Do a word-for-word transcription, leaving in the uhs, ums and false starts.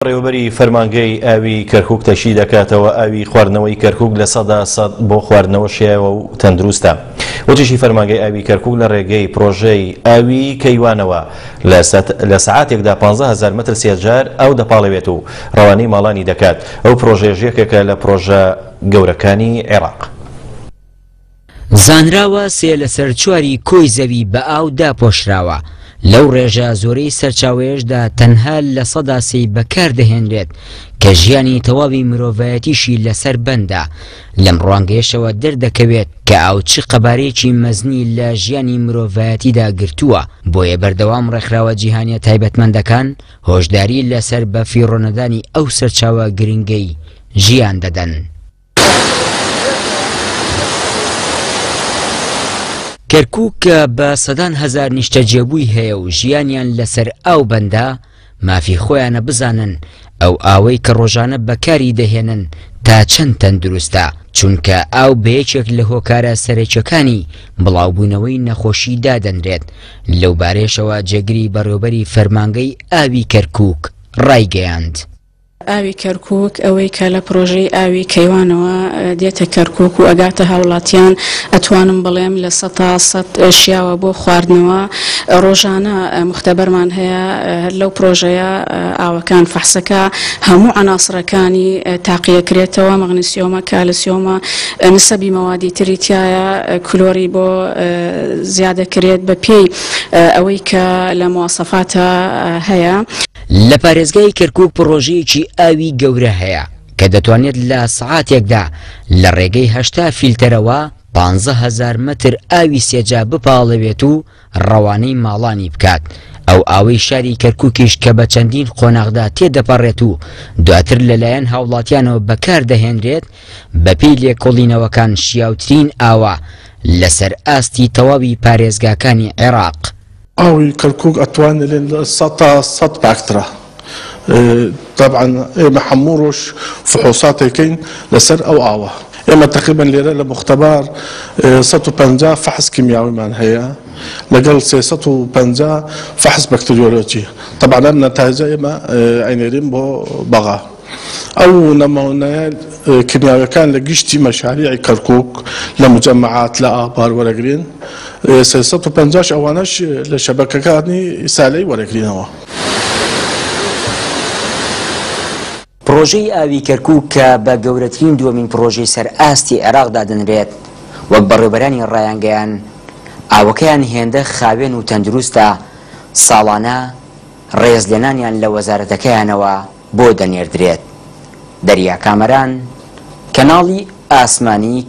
بەڕێوەبەری فەرمانگەی ئاوی کەرکوک تەشی دەکاتەوە ئاوی خواردنەوەی کەرکوک لە سەدا سەد بۆ خواردنەوە شیاوە و تەندروستە. وتیشی فەرمانگەی ئاوی کەرکوک لە ڕێگەی پرۆژەی ئاوی کەیوانەوە لە سەعاتێکدا پانزە هەزار مەتر سێجار ئاو دەپاڵێوێت و ڕەوانەی ماڵانی دەکات. ئەو پرۆژەیەش یەکێکە لە پرۆژە گەورەکانی عێراق. زانراوە سێ لەسەر چواری کۆی زەوی بە ئاو داپۆشراوە. لەو ڕێژە زۆرەی سەرچاوەیەشدا تەنها لە سەدا سێی بەکاردەهێنرێت کە ژیانی تەواوی مرۆڤایەتیشی لەسەر بەندە. لەم ڕوانگەیەشەوە دەردەکەوێت کە ئاو چ قەبارەیەکی مەزنی لە ژیانی مرۆڤایەتیدا گرتووە، بۆیە بەردەوام ڕێکخراوە جیهانیە تایبەتمەندەکان هۆشداری لەسەر بەفیڕۆنەدانی ئەو سەرچاوە گرنگەی ژیان دەدەن. کەرکوک کە بە سەدان هەزار نیشتەجێبووی هەیە و ژیانیان لەسەر ئاو بەندە، مافی خۆیانە بزانن ئەو ئاوەی کە ڕۆژانە بەکاری دەهێنن تا چەند تەندروستە، چونکە ئاو بە یەکێک لە هۆکارە سەرەکیەکانی بڵاوبوونەوەی نەخۆشی دادەنرێت. لەو بارێشەوە جێگری بەڕێوبەری فەرمانگەی ئاوی کەرکوک ڕایگەیاند. ئاوی کەرکوک ئەوەی کە لە پرۆژەی ئاوی کەیوانەوە دێتە کەرکوک و ئەگاتە هاوڵاتیان، ئەتوانم بڵێم لە سەتا سەد شیاوە بۆ خواردنەوە. ڕۆژانە مختبەرمان هەیە لەو پرۆژەیە ئاوەکان فەحسەکە هەموو عناصرەکانی تاقیەکرێتەوە، مەغنیسیۆمە، کالسیۆمە، نسەبی مەوادی تری تایە، کلۆری بۆ زیادەکرێت بە پێی ئەوەی کە لە مواسەفاتە هەیە. لە پارێزگای کەرکوک پرۆژەیەکی ئاوی گەورە هەیە کە دەتوانێت لە سەعاتێکدا لە ڕێگەی هەشتا فیلتەرەوە پانزە هەزار مەتر ئاوی سێجا بپاڵێوێت و ڕەوانەی ماڵانی بکات. ئەو ئاوەی شاری کەرکوکیش کە بە چەندین قۆناغدا تێدەپەڕێت و دواتر لەلایەن هاوڵاتیانەوە بەکاردەهێنرێت، بەپێی لێکۆڵینەوەکان شیاوترین ئاوە لەسەر ئاستی تەواوی پارێزگاکانی عێراق. ئاوی کەرکوک ئەتوانێت لە سەدا سەد پاکترە. طبعا ئێمە هەموو ڕۆژ فحوصاتێکین لەسەر ئەو ئاوە. ئێمە تقریبا لێرە لە مختبار سەد و پەنجا فحص کیمیاویمان هەیە لەگەڵ سێ سەد و پەنجا فحص بەکتریۆلۆجی. طبعا ئەم نەتایجە ئێمە ئەینێرین بۆ بەغا. ئەو نمونەیە کیمیاویەکان لە گشتی مەشاریعی کەرکوک لە مجەمەعات لە ئابار وەرەگرین، سێ سەد و پەنجاش ئەوانەش لە شەبەکەکانی سالەی وەرەگرینەوە. پرۆژەی ئاوی کەرکوک کە بە گەورەترین دووەمین پرۆژەی سەر ئاستی عێراق دادەنرێت، وەک بەڕێوبەرانی ڕایانگەیان ئاوەکەیان هێندە خاوێن و تەندروستە، ساڵانە ڕێزلێنانیان لە وەزارەتەکەیانەوە بۆ دەنێردرێت. دەریا کامەران، کەناڵی ئاسمانی.